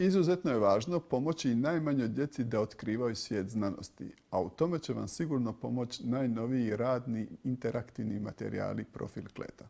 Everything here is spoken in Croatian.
Izuzetno je važno pomoći i najmanjoj djeci da otkrivaju svijet znanosti, a u tome će vam sigurno pomoći najnoviji radni interaktivni materijali Profil Kleta.